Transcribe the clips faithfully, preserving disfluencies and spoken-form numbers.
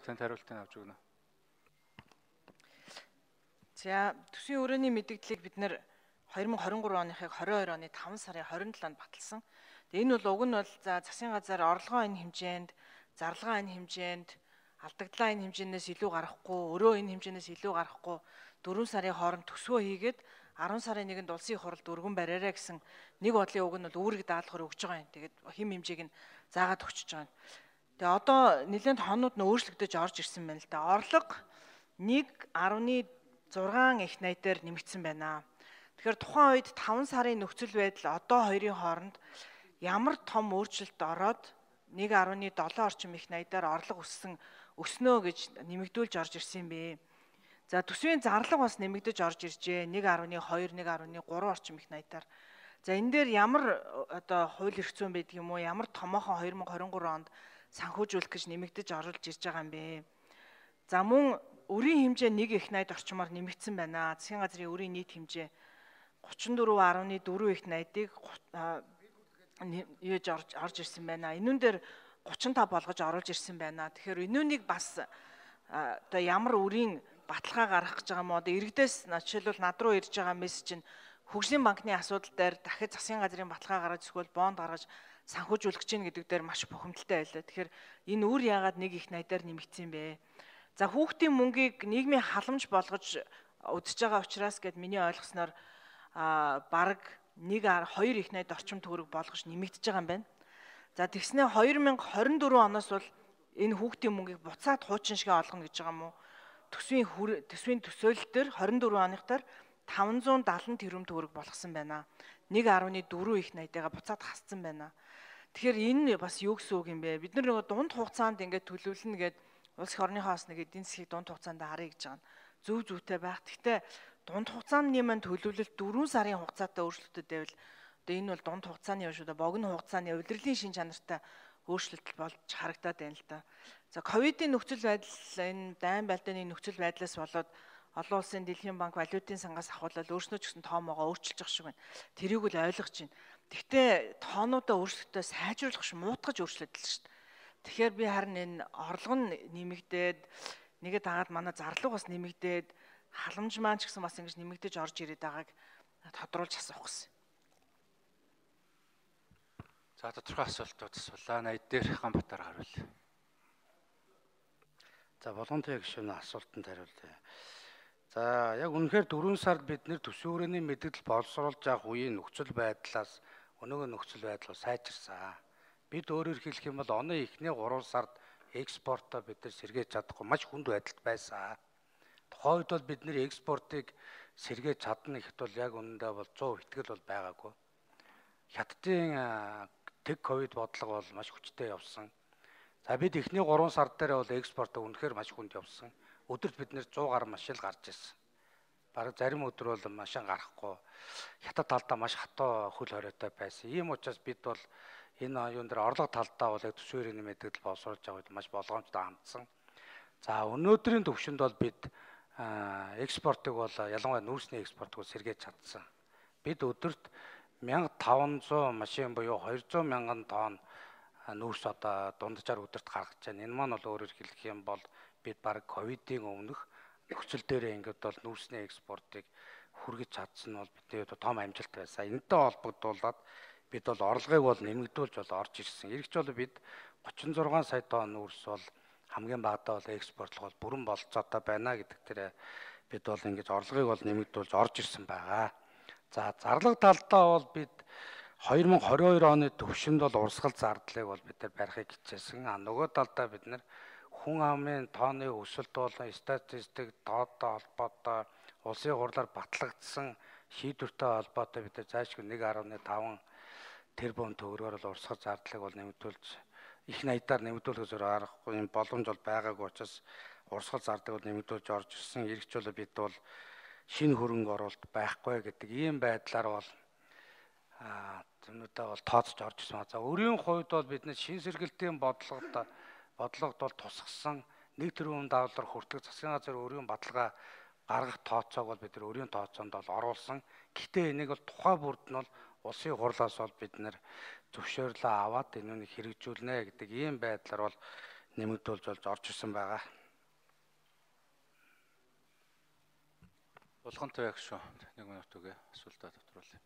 Танд хариултыг авч өгнө. За төсвийн өрөөний мэдээллийг бид нэр two thousand twenty-three оныхыг twenty-two оны five сарын twenty-sevenнд баталсан. Тэгээ энэ бол уг нь бол за засгийн газар орлогоо энэ хэмжээнд, зарлагаа энэ хэмжээнд, алдагдлаа энэ хэмжээнээс илүү гарахгүй, өрөө энэ хэмжээнээс илүү гарахгүй four сарын хооронд төсвөө хийгээд ten сарын нэгнд улсын хуралд өргөн бариараа гэсэн нэг бодлын уг нь бол үүрэг даалгавар өгж байгаа юм. Тэгээд хэм хэмжээг нь заагаад өгчөж байгаа юм. Тэгээ одоо нэлээд хонууд нь өөрчлөгдөж орж ирсэн байна л да. Орлого one point six их найдаар нэмэгдсэн байна. Тэгэхээр тухайн үед five сарын нөхцөл байдал одоо хоёрын хооронд ямар том өөрчлөлт ороод one point seven орчим их найдаар орлого өссөн өснөө гэж нэмэгдүүлж орж ирсэн юм бэ. За төсвийн зарлага бас нэмэгдэж орж иржээ. one point two, one point three орчим их найдаар. За энэ дээр ямар одоо хууль эрх зүйн байдаг юм уу? Ямар томоохон twenty twenty-three онд санхүүжүүлэх гэж нэмэгдэж оруулж ирж байгаа юм бэ? За мөн өрийн хэмжээ one их найд орчмоор нэмэгдсэн байна. Засгийн газрын өрийн нийт хэмжээ thirty-four point four их найдыг юуж орж ирсэн байна. Энүүн дээр thirty-five болгож оруулж ирсэн байна. Тэгэхээр энүүнийг бас одоо ямар өрийн баталгаа гаргах гэж байгаа юм одоо иргэдээс жишээлбэл над руу ирж байгаа мессеж нь хөгжлийн банкны асуудал дээр дахид засгийн газрын баталгаа гаргаж эсвэл бонд гаргаж санхүүжүүлэх гэж байна гэдэг дээр маш бухимдалтай байлаа. Тэгэхээр энэ үр яагаад one их найдаар нэмэгдсэн бэ? За хүүхдийн мөнгийг нийгмийн халамж болгож өдөж байгаа учраас гэд миний ойлгосноор бараг one two их найд орчим төгрөг болгож нэмэгдэж байгаа юм байна. За тэгснэ twenty twenty-four оноос бол энэ хүүхдийн мөнгийг буцаад хуучин шиг олгоно гэж байгаа юм уу? Төсвийн төсвийн төсөөлөл дээр twenty-four оныхтар five seventy тэрбум төгрөг болгосон байна. one point four их найдаа буцаад хассан байна. Тэгэхээр энэ бас юу гэсэн үг юм бэ? Бид нар нөгөө дунд хугацаанд ингээд төлөвлөнө гэдэг улс орныхоос нэг эдийн засгийг дунд хугацаанд харъя гэж байгаа нь зөв зөвтэй байх. Гэхдээ дунд хугацааны маань төлөвлөлт four сарын хугацаатай өөрчлөлтөд байвал одоо энэ бол дунд хугацааны юм шүү дээ. Богино хугацааны удирдлагын шин чанартай өөрчлөлт болж харагдаад байна л да. За ковидын нөхцөл байдал энэ дайн байлдааны нөхцөл байдлаас болоод олон улсын дэлхийн банк валютын сангаас ахуулаад өөрснөө ч гэсэн тоомоогоо өөрчилж явах шиг байна. Тэрийг л ойлгож байна. Гэхдээ тоонуудаа өөрчлөлтөө сайжруулах ш муутгаж өөрчлөлт л шүү дээ. Тэгэхээр би харин энэ орлого нь нэмэгдээд нэгэ дагаад манай зарлага бас нэмэгдээд халамж маань ч гэсэн бас ингэж нэмэгдэж орж ирээд байгааг тодруулж асуух гэсэн. За тодорхой асуултууд асуулаа. Найд дээр Ганбатар харуул. За болгонтой гишүүний асуултанд хариулъя. За яг үнэхээр four сард бид нэр төсвийн өрөөний мэдээлэл боловсруулж явах үеийн нөхцөл байдлаас өнөөгийн нөхцөл байдлаа сайжирсан. Бид өөрөөр хэлэх юм бол оны эхний three сард экспортоо бид нар сэргээж чадахгүй маш хүнд байдалд байсан. Тухайн үед бол бид нэр экспортыг сэргээж чадна гэхэд бол яг үнэндээ бол one hundred итгэл бол байгаагүй. Хятадын тэг ковид бодлого бол маш хүчтэй явсан. За бид эхний three сар дээр бол экспортоо үнэхээр маш хүнд явсан. Өдөрт бид нэр one hundred гаруй машин гарч ирсэн. Бараг зарим өдөр бол машин гарахгүй. Хятад талдаа маш хатуу хөл хориотой байсан. Ийм учраас бид бол энэ юун дээр орлого талдаа бол яг төсвийн өрөөний мэдээлэл боловсруулж байгаа үед маш болгоомжтой хандсан. За өнөөдрийн төвшөнд бол бид экспортыг бол ялангуяа нүүрсний экспортыг сэргээж чадсан. Бид өдөрт one thousand five hundred машин буюу two hundred мянган тонн нүүрс одоо дунджаар өдөрт гаргаж байна. Энэ маань бол өөрөөр хэлэх юм бол бид бараг ковидын өмнөх нөхцөл дээр ингээд бол нүүрсний экспортыг хүргэж чадсан нь бол бидний том амжилт байсан. Энэтэй холбогдуулаад бид бол орлогыг бол нэмэгдүүлж бол орж ирсэн. Иргэч бол бид thirty-six сая тонн нүүрс бол хамгийн багадаа бол экспортлох бол бүрэн болцоотой байна гэдэг дээр бид бол ингэж орлогыг бол нэмэгдүүлж орж ирсэн байгаа. За зарлага талдаа бол бид twenty twenty-two оны төвшөнд бол урсгал зардлыг бол бид нар барихыг хичээсэн. А нөгөө талдаа бид нар хүн амын тооны өсөлт болон статистик тоодтой холбоотой улсын хурлаар батлагдсан шийдвэртэй холбоотой бид нар заашгүй one point five тэрбум төгрөгөөр л урсгал зардлыг бол нэмэгдүүлж их найдаар нэмэгдүүлэх зөөр аргагүй юм боломж бол байгаагүй учраас урсгал зардыг бол нэмэгдүүлж орж ирсэн. Иргэч бол бид бол шинэ хөрөнгө оруулалт байхгүй гэдэг ийм байдлаар бол аа зэмнүүдээ бол тооцож орж ирсэн. За өрийн хувьд бол бид нэг шин сэргэлтийн бодлогод бодлогод бол тусгасан one тэрбум доллар хүртэх засгийн газар өрийн баталгаа гаргах тооцоог бол бид нар өрийн тооцоонд бол оруулсан. Гэхдээ энийг бол тухай бүрд нь бол улсын хурлаас бол бид нэр зөвшөөрлөө аваад энэнийг хэрэгжүүлнэ гэдэг ийм байдлаар бол нэмэгдүүлж болж орж ирсэн байгаа. Болгонтой яг шүү. Нэг минут үгээ асуултаа тодруулъя.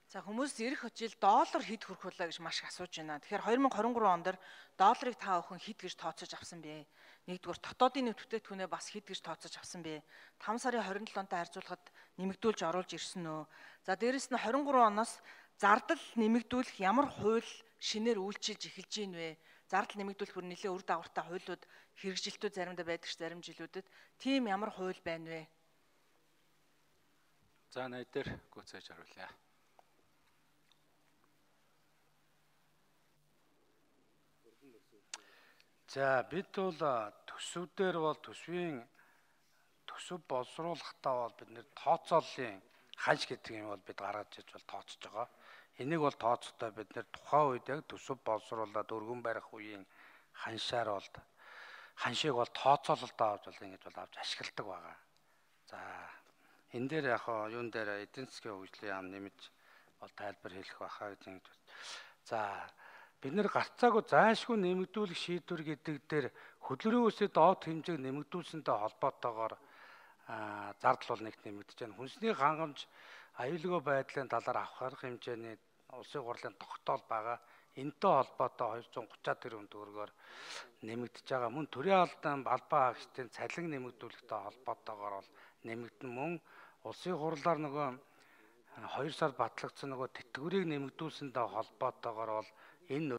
За хүмүүс ирэх жил доллар хэд хүрэх вэ гэж маш их асууж байна. Тэгэхээр хоёр мянга хорин гурван онд долларыг та охин хэд гэж тооцож авсан бэ? Нэгдүгээр дотоодын нэмэлт бүтээгдэхүүнээ бас хэд гэж тооцож авсан бэ? таван сарын хорин долоонтой харьцуулахад нэмэгдүүлж оруулж ирсэн үү? За дээрэс нь хорин гурван оноос зардал нэмэгдүүлэх ямар хууль шинээр үйлчилж эхэлж гин вэ? Зардал нэмэгдүүлэх бүр нэлээд үр дагавартай хуулиуд хэрэгжилтүүд заримдаа байдаг ш зарим жилүүдэд тийм ямар хууль байна вэ? За найд дээр гүйцээж харуулъя. За бид бол төсвүүдээр бол төсвийн төсөв боловсруулахдаа бол бид нэр тооцооллын ханш гэдэг юм бол бид гаргаж иж бол тооцож байгаа. Энийг бол тооцохдоо бид нэр тухайн үед яг төсөв боловсруулаад өргөн барих үеийн ханшаар бол ханшийг бол тооцоололтоо авч бол ингэж бол авч ашигладаг байгаа. За энэ дээр яг юун дээр эдийн засгийн хөгжлийн яам нэмж бол тайлбар хэлэх байхаа гэж ингэж. За бид нэр гарцаагүй зайлшгүй нэмэгдүүлэх шийдвэр гэдэг дээр хөдөлмөрийн үсээ доод хэмжээг нэмэгдүүлсэнтэй холбоотойгоор зардал бол нэгт нэмэгдэж байна. Хүнсний хангамж аюулгүй байдлын талаар авах арга хэмжээний улсын хурлын тогтоол байгаа. Энэтэй холбоотой хоёр зуун гуцаад тэрбум төгрөгөөр нэмэгдэж байгаа. Мөн төрийн албан албан хаагчдын цалин нэмэгдүүлэхтэй холбоотойгоор бол нэмэгдэн мөн улсын хурлаар нөгөө хоёр сар батлагдсан нөгөө тэтгэврийг нэмэгдүүлсэнтэй холбоотойгоор бол энэ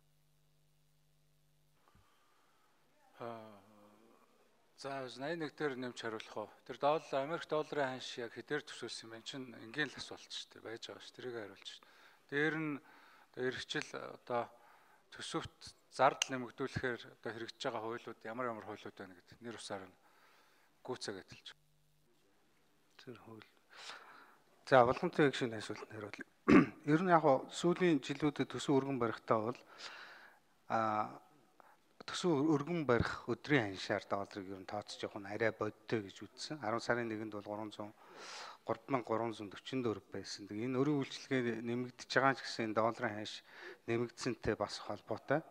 за восемьдесят один дээр нэмж хариулах уу? Тэр доллар Америк долларын ханш яг хэдээр төсөөлсөн юм байна. Чин энгийн л асуулт шүү дээ. Байж байгаа ш. Тэрийг хариулж ш. Дээр нь эргэжил одоо төсөвт зардал нэмэгдүүлэхээр одоо хэрэгжиж байгаа хуулиуд ямар ямар хуулиуд байна гэдэг нэр усаар нь гүйцээгээд хэлж. Тэр хууль. За болгонтой яг шинэ асуултанд хариулъя. Ер нь яг сүүлийн жилүүдэд төсөв өргөн барихтаа бол а төсөв өргөн барих өдрийн ханшаар долларыг ер нь тооцож явах нь арай бодтой гэж үзсэн. арван сарын нэгэнд бол гурван зуун гурван мянга гурван зуун дөрвөн дөрв байсан. Тэгээ энэ өрийн үйлчилгээ нэмэгдэж байгаа ч гэсэн долларын ханш нэмэгдсэнтэй бас холбоотой.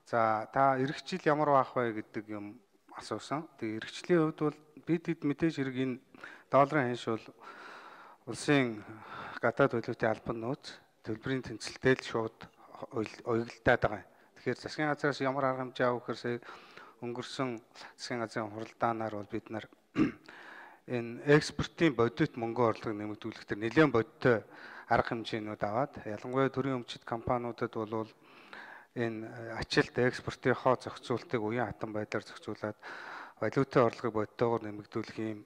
За та эх жил ямар байх вэ гэдэг юм асуусан. Тэгээ эх жилийн хувьд бол бид хэд мэдээж хэрэг энэ долларын ханш бол улсын гадаад төлөвтэй албан нууц төлбөрийн тэнцэлтэй л шууд уягдтаад байгаа юм. Тэгэхээр засгийн газраас ямар арга хэмжээ авах гэхээр өнгөрсөн засгийн газрын хуралдаанаар бол бид нар энэ экспортын бодит мөнгө орлогыг нэмэгдүүлэх төр нэлээд бодиттой арга хэмжээнүүд аваад ялангуяа төрийн өмчит компаниудад бол энэ ачаалт экспортынхоо зохицуултыг уян хатан байдлаар зохицуулаад валютын орлогыг бодиттойгоор нэмэгдүүлэх юм.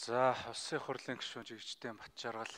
За улсын хурлын гишүүн жигчдийн Батжаргал